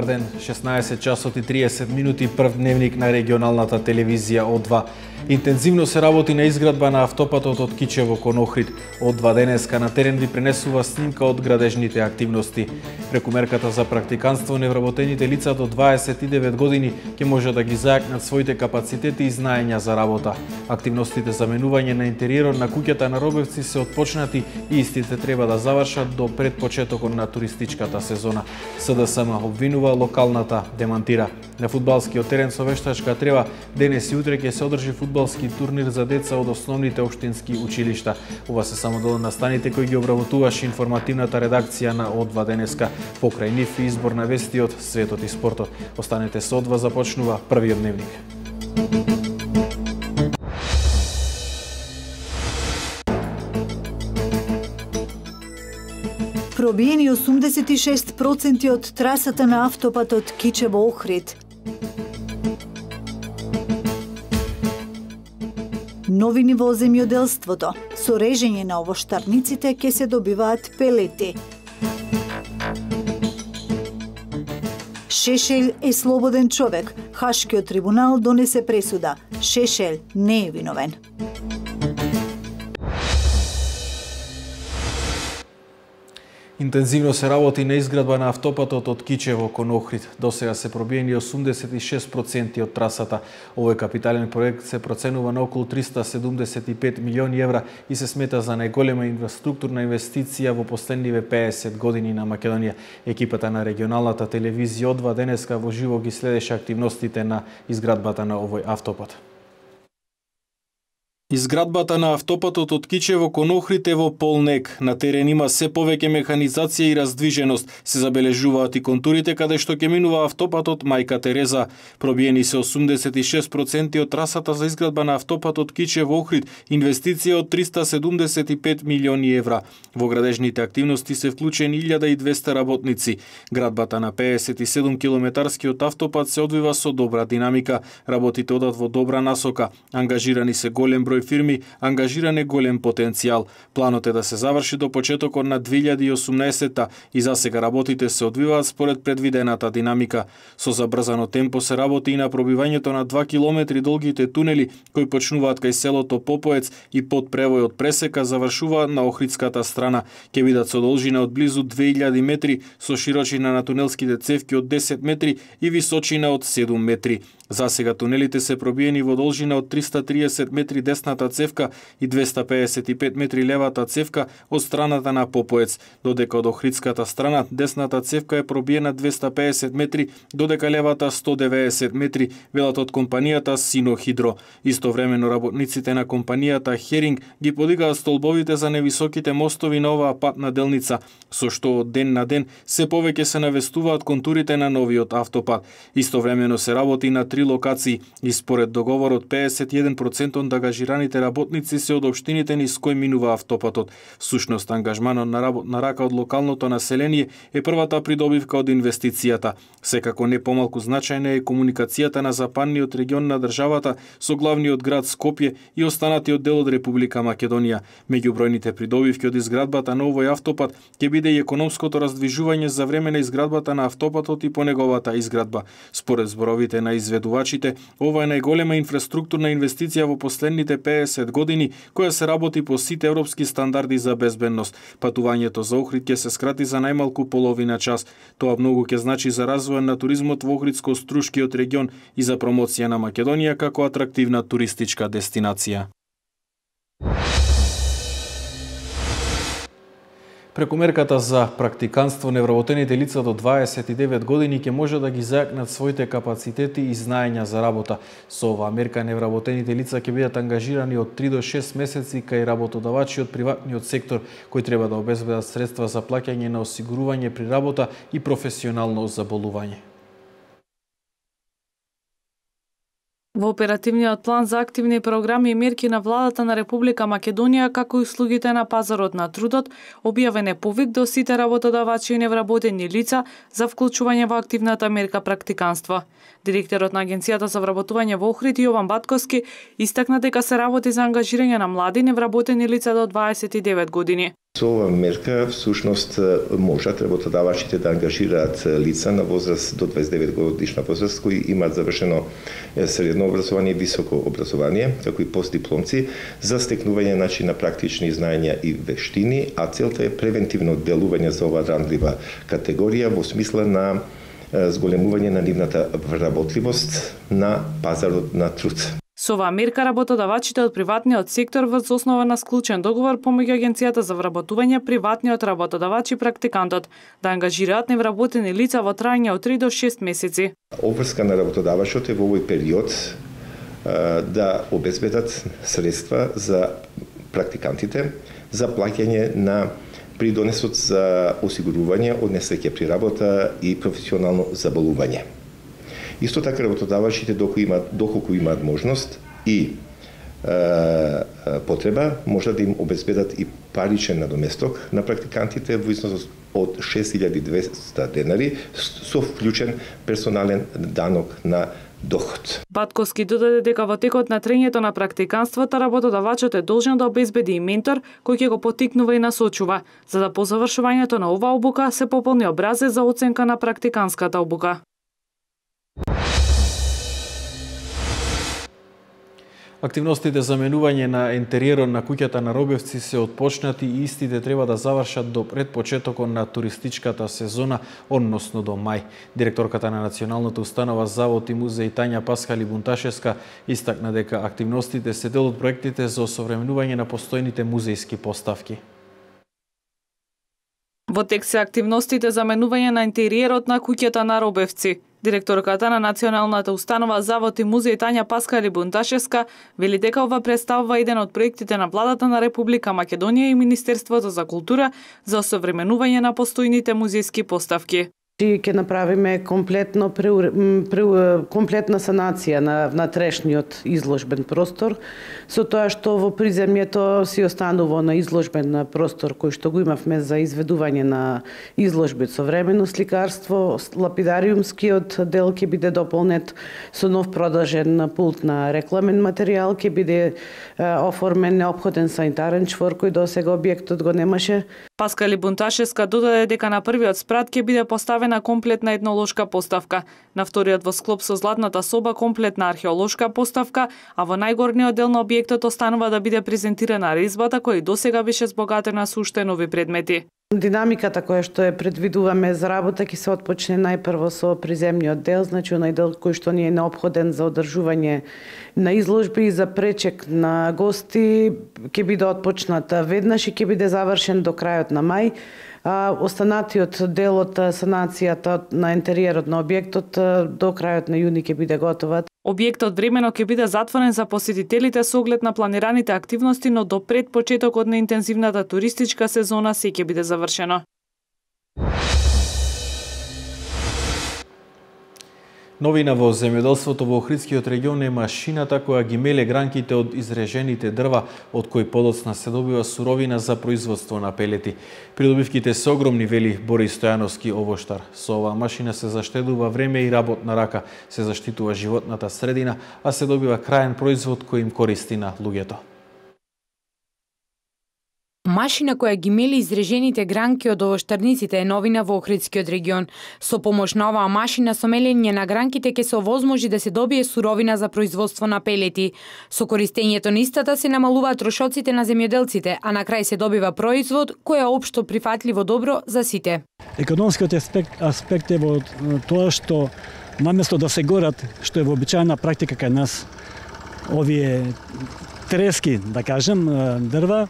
Добар ден, 16 часот и 30 минути, прв дневник на регионалната телевизија О2. Интензивно се работи на изградба на автопатот од Кичево кон Охрид. Од денеска на терен ви пренесува снимка од градежните активности. Преку мерката за практиканство, невработените лица до 29 години ќе може да ги зајакнат своите капацитети и знаења за работа. Активностите за менување на интериерот на куќата на Робевци се отпочнати и истите треба да завршат до пред почетокот на туристичката сезона. СДСМ обвинува, локалната демантира. На фудбалскиот терен со вештачка трева денес и утре ќе се одржи фудбалски турнир за деца од основните општински училишта. Ова се само дел на настаните кои ги обработуваше информативната редакција на О2 денеска. Покрај нив и избор на вести од светот и спортот. Останете со О2, започнува првиот дневник. Пробиени 86% од трасата на автопатот Кичево-Охрид. Новини во земјоделството. Со режење на овоштарниците ќе се добиваат пелети. Шешел е слободен човек. Хашкиот трибунал донесе пресуда. Шешел не е виновен. Интензивно се работи на изградба на автопатот од Кичево кон Охрид. Досега се пробиени 86% од трасата. Овој капитален проект се проценува на околу 375 милиони евра и се смета за најголема инфраструктурна инвестиција во последниве 50 години на Македонија. Екипата на регионалната телевизија О2 денеска во живо ги следеше активностите на изградбата на овој автопат. Изградбата на автопатот од Кичево кон Охрид е во полнек. На терен има се повеќе механизација и раздвиженост. Се забележуваат и контурите каде што ќе минува автопатот Мајка Тереза. Пробиени се 86% од трасата за изградба на автопатот Кичево Охрид, инвестиција од 375 милиони евра. Во градежните активности се вклучени 1200 работници. Градбата на 57 километарскиот автопат се одвива со добра динамика. Работите одат во добра насока. Ангажирани се голем број фирми, ангажиран е голем потенцијал. Планот е да се заврши до почетокот на 2018-та и засега работите се одвиваат според предвидената динамика. Со забрзано темпо се работи и на пробивањето на 2 километри долгите тунели кои почнуваат кај селото Попоец и под превојот пресека завршуваат на Охридската страна. Ќе бидат со должина од близу 2000 метри, со широчина на тунелските цевки од 10 метри и височина од 7 метри. Засега тунелите се пробиени во должина од 330 метри десната цевка и 255 метри левата цевка од страната на Попоец, додека од Охридската страна десната цевка е пробиена 250 метри, додека левата 190 метри, велат од компанијата Синохидро. Истовремено работниците на компанијата Херинг ги подигаат столбовите за невисоките мостови на оваа патна делница, со што од ден на ден се повеќе се навестуваат контурите на новиот автопат. Истовремено се работи на 3 локации и според договорот 51% од ангажираните работници се од општините низ кои минува автопатот. Всушност ангажманот на работна рака од локалното население е првата придобивка од инвестицијата. Секако не помалку значајна е комуникацијата на западниот регион на државата со главниот град Скопје и останатиот дел од Република Македонија. Меѓу бројните придобивки од изградбата на овој автопат ќе биде и економското раздвижување за време на изградбата на автопатот и по неговата изградба. Според зборовите на изведувачите, ова е најголема инфраструктурна инвестиција во последните 50 години, која се работи по сите европски стандарди за безбедност. Патувањето за Охрид ќе се скрати за најмалку половина час. Тоа многу ќе значи за развој на туризмот во Охридско-Струшкиот регион и за промоција на Македонија како атрактивна туристичка дестинација. Преку мерката за практиканство, невработените лица до 29 години ќе може да ги зајакнат своите капацитети и знаења за работа. Со оваа мерка невработените лица ќе бидат ангажирани од 3 до 6 месеци кај работодавачи од приватниот сектор, кои треба да обезбедат средства за плаќање на осигурување при работа и професионално заболување. Во оперативниот план за активни програми и мерки на владата на Република Македонија, како и услугите на пазарот на трудот, објавен е повик до сите работодавачи и невработени лица за вклучување во активната мерка практиканство. Директорот на Агенцијата за вработување во Охрид Јован Батковски истакна дека се работи за ангажирање на млади невработени лица до 29 години. Со ова мерка всушност можат работодавачите да ангажираат лица на возраст до 29 годишна возраст кои имаат завршено средно образование и високо образование, како и постдипломци, за стекнување на практични знаења и вештини, а целта е превентивно делување за оваа ранлива категорија во смисла на зголемување на нивната вработливост на пазарот на труд. Со оваа мерка работодавачите од приватниот сектор врз основа на склучен договор помеѓу Агенцијата за вработување, приватниот работодавач и практикантот да ангажираат невработени лица во трајање од 3 до 6 месеци. Обврска на работодавачот е во овој период да обезбедат средства за практикантите за плаќање на придонесот за осигурување од несреќа при работа и професионално заболување. Исто така работодавачите доколку имаат можност и потреба, може да им обезбедат и паричен надоместок на практикантите во износ од 6200 денари со вклучен персонален данок на доход. Батковски додаде дека во текот на трењето на практиканството работодавачот е должен да обезбеди и ментор кој ќе го поттикнува и насочува, за да по завршувањето на оваа обука се пополни образец за оценка на практиканската обука. Активностите за менување на ентериерот на куќата на Робевци се отпочнати и истите треба да завршат до пред почетокот на туристичката сезона, односно до мај. Директорката на Националната установа Завод и музеј Тања Паскали Бунташевска истакна дека активностите се дел од проектите за осовременување на постојните музејски поставки. Во тек се активностите за менување на интериерот на куќата на Робевци. Директорката на Националната установа Завод и музеј Тања Паскали Бунташевска вели дека ова представува еден од проектите на владата на Република Македонија и Министерството за култура за осовременување на постојните музејски поставки. Ќе направиме комплетна санација на трешниот изложбен простор, со тоа што во приземјето си останува на изложбен простор кој што го имавме за изведување на изложби од современо сликарство. Лапидариумскиот дел ќе биде дополнет со нов продолжен пулт на рекламен материјал, ќе биде оформен неопходен санитарен чвор кој досега објектот го немаше. Паскали Бунташевска додаде дека на првиот спрат ќе биде поставена комплетна етнолошка поставка, на вториот во склоп со Златната соба комплетна археолошка поставка, а во најгорниот дел на објектот останува да биде презентирана резбата која и досега беше збогатена со уште нови предмети. Динамиката која што е предвидуваме за работа ќе се отпочне најпрво со приземниот дел, значи онај дел кој што ни е неопходен за одржување на изложби и за пречек на гости ќе биде отпочнат веднаш и ќе биде завршен до крајот на мај. Останатиот дел од санацијата на интериерот на објектот до крајот на јуни ќе биде готова. Објектот времено ќе биде затворен за посетителите со оглед на планираните активности, но до пред почетокот на интензивната туристичка сезона се ќе биде завршено. Новина во земјоделството во Охридскиот регион е машината која ги меле гранките од изрежените дрва, од кои подоцна се добива суровина за производство на пелети. Придобивките се огромни, вели Бори Стојановски, овоштар. Со оваа машина се заштедува време и работна рака, се заштитува животната средина, а се добива краен производ кој им користи на луѓето. Машина која ги мели изрежените гранки од овоштарниците е новина во Охридскиот регион. Со помош на оваа машина со мелење на гранките ќе се овозможи да се добие суровина за производство на пелети. Со користењето на истата се намалуваат трошоците на земјоделците, а на крај се добива производ кој е општо прифатливо добро за сите. Економскиот аспект е во тоа што наместо да се горат, што е вообичаена практика кај нас, овие трески, да кажем, дрва,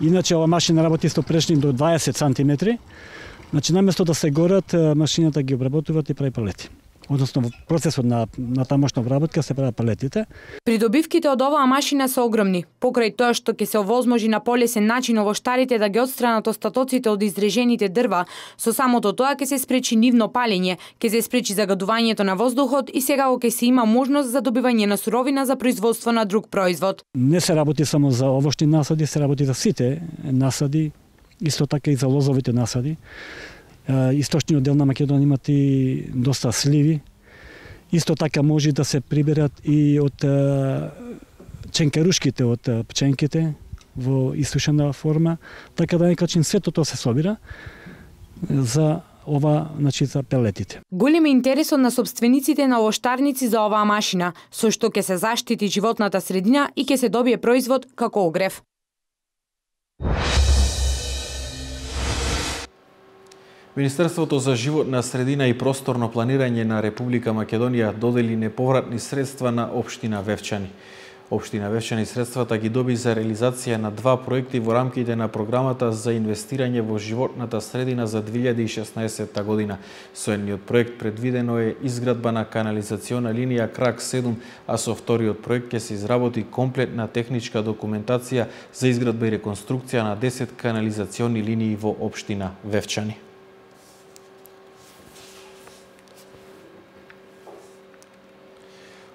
иначе ова машина работи со прешни до 20 сантиметри. Значи, наместо да се горат, машината ги обработуваат и прави палети. Односно, во процесот на тамошна обработка се прават палетите. Придобивките од оваа машина се огромни. Покрај тоа што ќе се овозможи на полесен начин овоштарите да ги отстранат остатоците од изрежените дрва, со самото тоа ќе се спречи нивно палење, ќе се спречи загадувањето на воздухот и сега ќе се има можност за добивање на суровина за производство на друг производ. Не се работи само за овошни насади, се работи за сите насади, исто така и за лозовите насади. Источниот дел на Македонија имат и доста сливи. Исто така може да се приберат и од ченкарушките од пченките, во исушена форма, така да некачин сето тоа се собира за ова, значи, за пелетите. Голем е интересот на собствениците на оштарници за оваа машина, со што ќе се заштити животната средина и ќе се добие производ како огрев. Министерството за животна средина и просторно планирање на Република Македонија додели неповратни средства на општина Вевчани. Општина Вевчани средствата ги доби за реализација на 2 проекти во рамките на програмата за инвестирање во животната средина за 2016 година. Со едниот проект предвидено е изградба на канализациона линија Крак 7, а со вториот проект ќе се изработи комплетна техничка документација за изградба и реконструкција на 10 канализациони линии во општина Вевчани.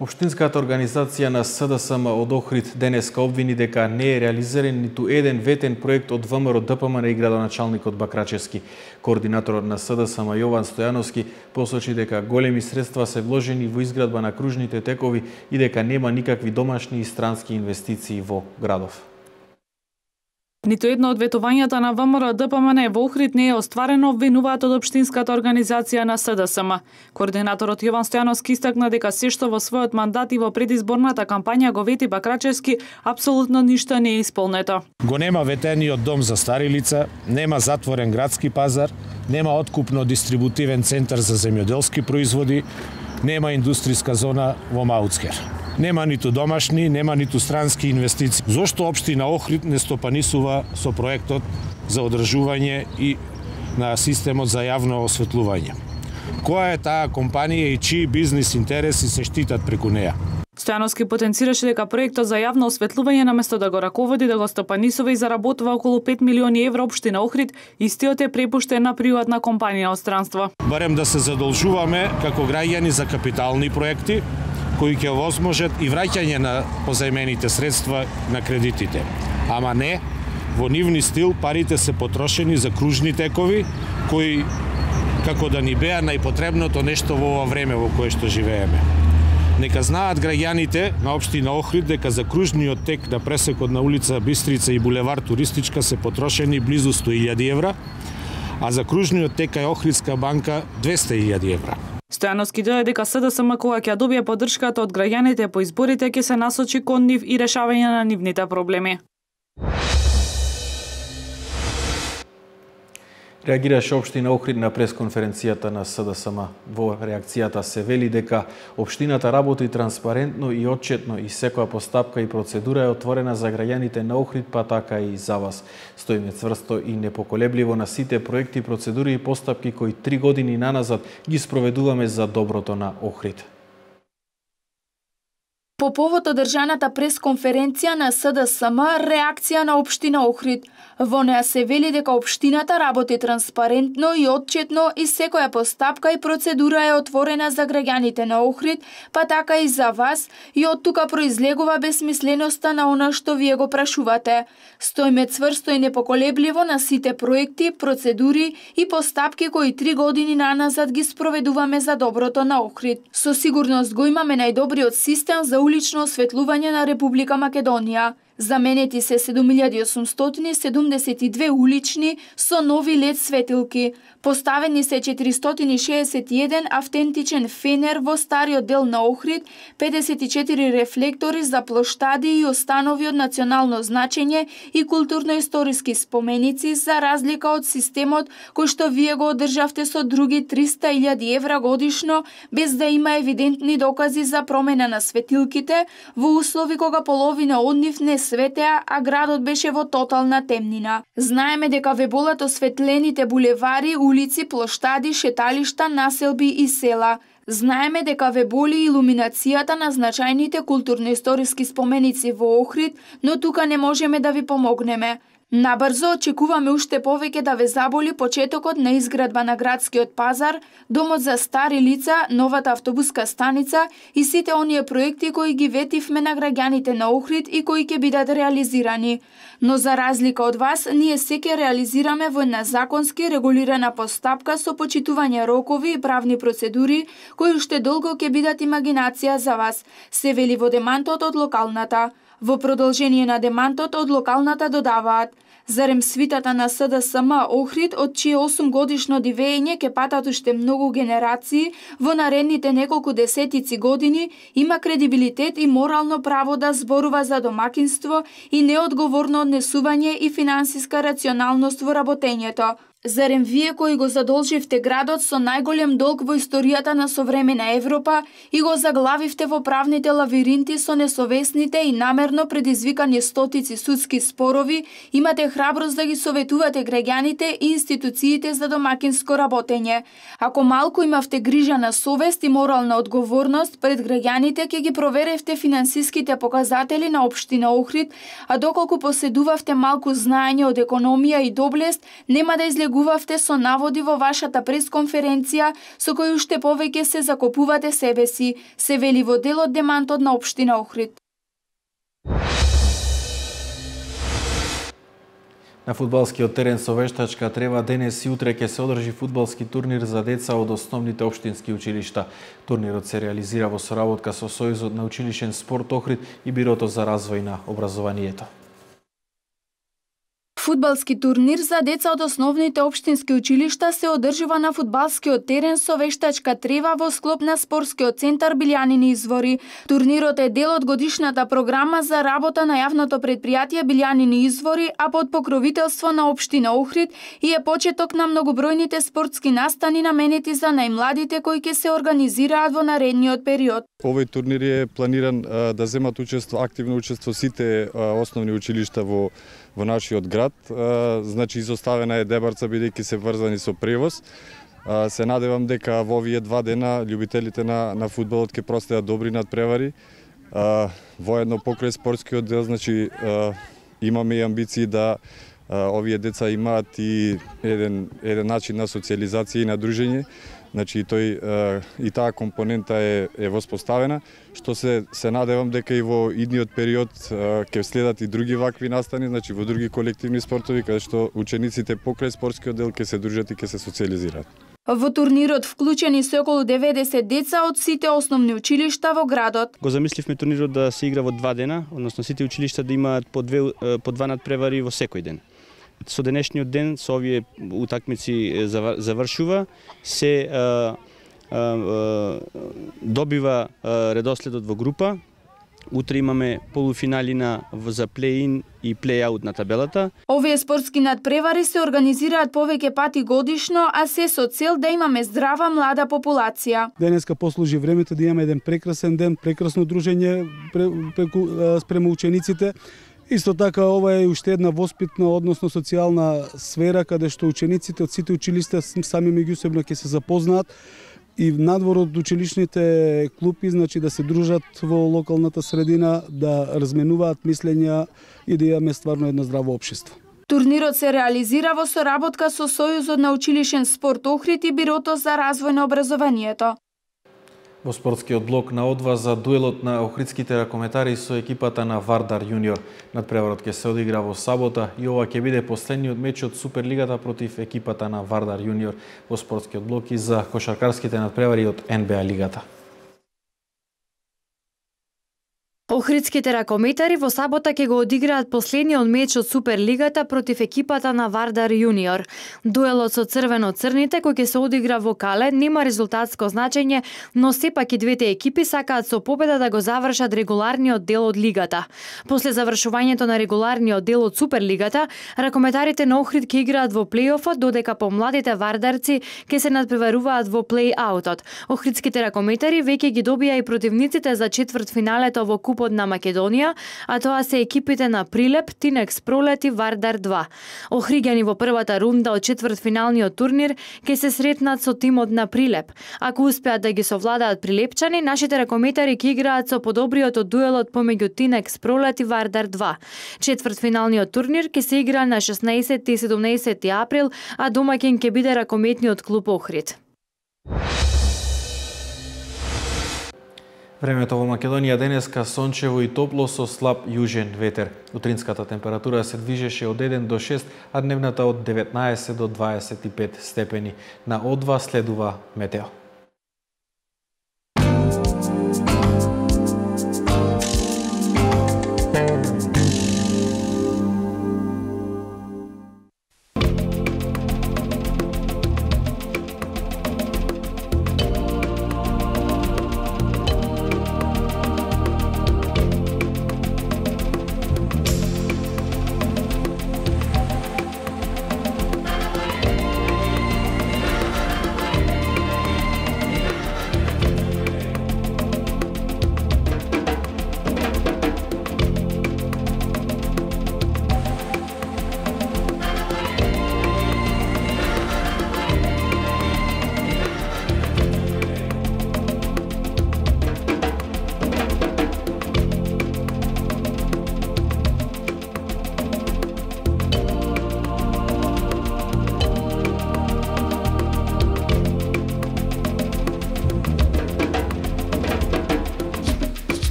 Општинската организација на СДСМ од Охрид денеска обвини дека не е реализиран ниту еден ветен проект од ВМРО ДПМН и градоначалникот Бакрачевски. Координаторот на СДСМ Јован Стојановски посочи дека големи средства се вложени во изградба на кружните текови и дека нема никакви домашни и странски инвестиции во градов. Ниту едно од ветувањата на ВМРО ДПМН во Охрид не е остварено, обвинуваат од општинската организација на СДСМ. Координаторот Јован Стојановски истакна дека се што во својот мандат и во предизборната кампања го вети Бакрачевски, апсолутно ништо не е исполнето. Го нема ветениот дом за стари лица, нема затворен градски пазар, нема откупно-дистрибутивен центар за земјоделски производи, нема индустријска зона во Маутскер. Нема ниту домашни, нема ниту странски инвестиции. Зошто општина Охрид не стопанисува со проектот за одржување и на системот за јавно осветлување? Која е таа компанија и чии бизнис интереси се штитат преку неа? Стојановски потенцираше дека проектот за јавно осветлување наместо да го раководи, да го стопанисува и заработува околу 5 милиони евра општина Охрид, истиот е препуштен на приватна компанија од странство. Барем да се задолжуваме како граѓани за капитални проекти, кои ќе овозможат и враќање на позајмените средства на кредитите. Ама не, во нивни стил парите се потрошени за кружни текови, кои како да ни беа најпотребното нешто во ова време во кое што живееме. Нека знаат граѓаните на општина Охрид дека за кружниот тек на пресекот на улица Бистрица и булевар Туристичка се потрошени близу 100.000 евра, а за кружниот тек кај Охридска банка 200.000 евра. Стојановски дојде дека СДСМ кога ќе добие поддршката од граѓаните по изборите ќе се насочи кон нив и решавање на нивните проблеми. Реагираше општина Охрид на пресконференцијата на СДСМ. Во реакцијата се вели дека општината работи транспарентно и отчетно и секоја постапка и процедура е отворена за граѓаните на Охрид, па така и за вас. Стоиме цврсто и непоколебливо на сите проекти, процедури и постапки кои 3 години наназад ги спроведуваме за доброто на Охрид. По повод одржаната пресконференција на СДСМ, реакција на општина Охрид. Во неа се вели дека општината работи транспарентно и отчетно и секоја постапка и процедура е отворена за граѓаните на Охрид, па така и за вас, и од тука произлегува бесмисленоста на она што вие го прашувате. Стоиме цврсто и непоколебливо на сите проекти, процедури и постапки кои 3 години наназад ги спроведуваме за доброто на Охрид. Со сигурност го имаме најдобриот систем за улично осветлување на Република Македонија. Заменети се 7872 улични со нови лед светилки. Поставени се 461 автентичен фенер во стариот дел на Охрид, 54 рефлектори за плоштади и останови од национално значење и културно-историски споменици, за разлика од системот кој што вие го одржавте со други 300.000 евра годишно, без да има евидентни докази за промена на светилките, во услови кога половина од нив не светеа, а градот беше во тотална темнина. Знаеме дека ве болат осветлените булевари, улици, плоштади, шеталишта, населби и села. Знаеме дека ве боли илуминацијата на значајните културно-историски споменици во Охрид, но тука не можеме да ви помогнеме. Набрзо очекуваме уште повеќе да ве заболи почетокот на изградба на градскиот пазар, домот за стари лица, новата автобуска станица и сите оние проекти кои ги ветивме на граѓаните на Охрид и кои ќе бидат реализирани. Но за разлика од вас, ние се ќе реализираме во една законски регулирана постапка со почитување рокови и правни процедури кои уште долго ќе бидат имагинација за вас, се вели во демантот од локалната. Во продолжение на демантот од локалната додаваат: зарем свитата на СДСМ Охрид, од чие 8 годишно дивење ќе патат уште многу генерации во наредните неколку десетици години, има кредибилитет и морално право да зборува за домакинство и неодговорно однесување и финансиска рационалност во работењето. Зарем вие кои го задолживте градот со најголем долг во историјата на современа Европа и го заглавивте во правните лавиринти со несовесните и намерно предизвикани стотици судски спорови, имате храброст да ги советувате граѓаните и институциите за домакинско работење. Ако малку имавте грижа на совест и морална одговорност пред граѓаните, ќе ги проверевте финансиските показатели на општина Охрид, а доколку поседувавте малку знаење од економија и доблест, нема да излегувавте со наводи во вашата пресконференција со кои уште повеќе се закопувате себе си, се вели во делот демантот на општина Охрид. На фудбалскиот терен со вештачка трева денес и утре ќе се одржи фудбалски турнир за деца од основните општински училишта. Турнирот се реализира во соработка со Сојузот на училишен спорт Охрид и Бирото за развој на образованието. Фудбалски турнир за деца од основните општински училишта се одржува на фудбалскиот терен со вештачка трева во склоп на спортскиот центар Билјанини извори. Турнирот е дел од годишната програма за работа на јавното претпријатие Билјанини извори, а под покровителство на општина Охрид, и е почеток на многобројните спортски настани наменети за најмладите кои ќе се организираат во наредниот период. Овој турнир е планиран да земат активно учество сите основни училишта во нашиот град. Значи изоставена е Дебарца бидејќи се врзани со превоз. Се надевам дека во овие 2 дена љубителите на фудбалот ќе простеат добри надпревари. Воедно покрај спортскиот дел, значи имаме и амбиции да овие деца имаат и еден начин на социализација и на дружење. Значи и таа компонента е воспоставена, што се надевам дека и во идниот период ќе следат и други вакви настани, значи во други колективни спортови каде што учениците покрај спортскиот дел ќе се дружат и ќе се социализираат. Во турнирот вклучени се околу 90 деца од сите основни училишта во градот. Го замисливме турнирот да се игра во 2 дена, односно сите училишта да имаат по 2 надпревари во секој ден. Со денешниот ден, со овие утакмици завршува, се добива редоследот во група. Утре имаме полуфинали за плей-ин и плей-аут на табелата. Овие спортски надпревари се организираат повеќе пати годишно, а се со цел да имаме здрава млада популација. Денеска послужи времето да имаме еден прекрасен ден, прекрасно дружење спрема учениците. Исто така, ова е уште една воспитна, односно социјална сфера, каде што учениците од сите училишта сами меѓусебно ќе се запознаат и надвор од училишните клупи, значи да се дружат во локалната средина, да разменуваат мислења и да имаме стварно едно здраво општество. Турнирот се реализира во соработка со Сојузот на училишен спорт Охрид и Бирото за развој на образованието. Во спортскиот блок на одва за дуелот на охридските ракометари со екипата на Вардар Јуниор. Надпреварот ќе се одигра во сабота и ова ќе биде последниот меч од Суперлигата против екипата на Вардар Јуниор во спортскиот блок и за кошаркарските надпревари од НБА лигата. Охридските ракометари во сабота ќе го одиграат последниот меч од Суперлигата против екипата на Вардар Јуниор. Дуелот со црвено-црните кој ќе се одигра во Кале нема резултатско значење, но сепак и двете екипи сакаат со победа да го завршат регуларниот дел од лигата. После завршувањето на регуларниот дел од Суперлигата, ракометарите на Охрид ќе играат во плей-офот, додека помладите вардарци ќе се надпреваруваат во плей-аутот. Охридските ракометари веќе ги добија и противниците за четвртфиналето во Купот на Македонија, а тоа се екипите на Прилеп, Тинекс Пролет и Вардар 2. Охриѓани во првата рунда од четвртфиналниот турнир ќе се сретнат со тимот на Прилеп. Ако успеат да ги совладаат прилепчани, нашите ракометари ќе играат со подобриот од дуелот помеѓу Тинекс Пролет и Вардар 2. Четвртфиналниот турнир ќе се игра на 16 и 17 април, а домаќин ќе биде ракометниот клуб Охрид. Времето во Македонија денеска сончево и топло со слаб јужен ветер. Утринската температура се движеше од 1 до 6, а дневната од 19 до 25 степени. На О2 следува метео.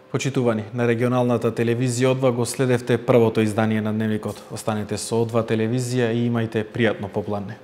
Почитувани, на регионалната телевизија Одва го следевте првото издание на Дневникот. Останете со Одва телевизија и имајте пријатно попладне.